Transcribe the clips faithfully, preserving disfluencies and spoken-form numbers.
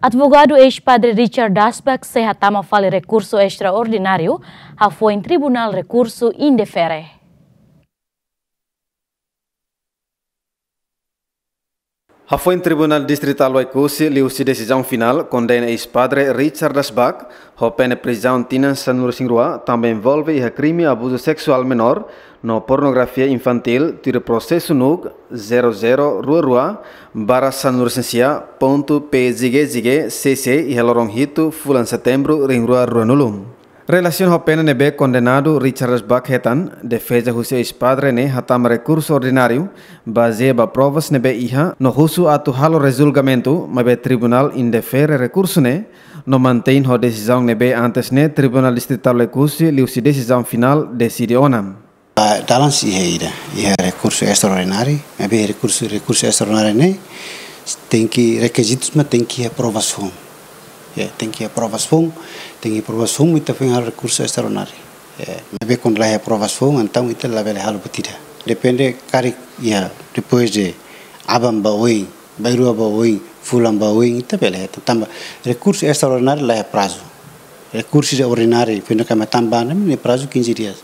Advogadu eis-padre Richard Dasbach sei hatama fali rekursu estraordináriu hafoin Tribunál Rekursu Indefere. Hafoin Tribunál Distritál Oekusi liuhusi desizaun finál kondena eis-padre Richard Dasbach ho pena prizaun tinan sanulu-resin-rua, tanba envolve iha krime abuzu seksuál menór no pornografia infantíl, tuir prosesu NUC zero zero rua rua barra sanulu-resin-sia pontu P G G C C iha loron hitu fulan Setembru rihun rua ruanulu. Relasiona ho pena ne'ebé kondenadu Richard Dasbach hetan, defeza husi eis-padre ne'e hatama rekursu ordináriu bazeia ba provas ne'ebé iha no husu atu halo rejulgamentu, maibé tribunál indefere rekursu ne'e no mantein ho desizaun ne'ebé antes ne'e Tribunál Distritál Oekusi liuhusi desizaun finál deside ona. Ah, dalan sei iha ida, iha rekursu estraordináriu, maibé rekursu, rekursu estraordináriu ne'e tenke, rekizitus mak tenke iha aprovasaun. Ya, tenke iha aprovasaun, tenke aprovasaun mak ita foin halo rekursu estraordináriu. Ya, maibé kuandu la iha aprovasaun, entaun ita labele halo buat ida. Depende karik iha, depois de aban ba oin, bainrua ba oin, fulan ba oin, ita bele hetan. Tanba rekursu estraordináriu la iha prazu. Rekursu ordináriu, pena kama tanba ne'e, ne'e prazu quinze dias.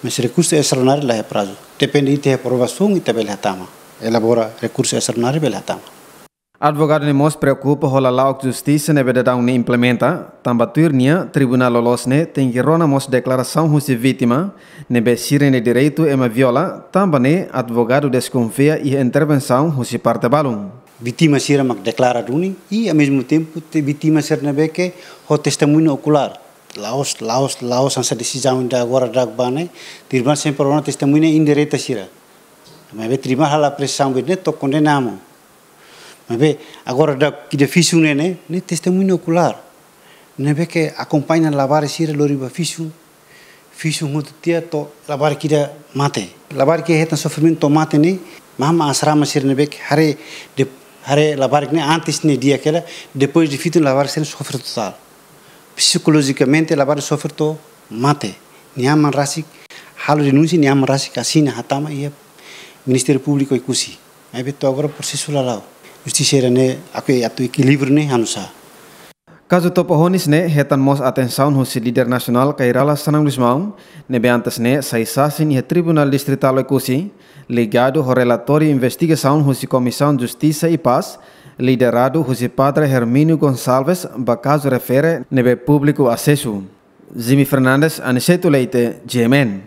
Mas rekursu estraordináriu la iha prazu. Depende ita iha aprovasaun, ita bele hatama. Elabora rekursu estraordináriu bele hatama. Advogadu ne'e mós preokupa ho lala'ok justisa ne'ebé daudaun ne'e implementa, tanba tuir nia, tribunál loloos ne'e tenke rona mós deklarasaun husi vítima, ne'ebé sira-nia direitu ema viola, tanba ne'e advogadu deskonfia iha intervensaun husi parte balun. Vítima sira mak deklara duni, i ao mesmo tempo te vítima sira ne'ebé ke ho testemuña okulár. La'ós, la'ós, la'ós hanesan desizaun ida agora daudaun ne'e, tribunál sempre rona testemuña indireta sira. Maibé tribunál halo apresiasaun ne'e to'o kondena mós. Maibé agora daudaun ida viziñu ne'e, ne'e, ne'e testemuña okulár. Ne'ebé ke akompaña labarik sira lori ba viziñu, viziñu hotu tiha to'o labarik ida mate. Labarik ida hetan sofrimentu to'o mate ne'e, mama asrama sira ne'ebé ke haree, de, haree labarik ne'e antes ne'e di'ak hela, depois de viziñu labarik sira sofre totál. Psikolojikamente labarik sofre to'o mate. Nia aman rasik halo denúnsia, nia aman rasik asina hatama iha Ministériu Públiku Oekusi. Maibé to'o agora prosesu la la'o. Justisa sira-ne'e, aku atu ekilíbriu ne'e hanusá. Kazu Topo Honis ne'e hetan mós atensaun husi líder nasionál Kay Rala Xanana Gusmão, ne'ebé antes ne'e sai sasin iha Tribunál Distritál Oekusi, ligadu ho relatóriu investigasaun husi Komisaun Justisa i Pás, lideradu husi Padre Hermínio Gonçalves, ba kazu refere ne'ebé públiku asesu. Jimmy Fernandes, Aniceto Leite, G M N.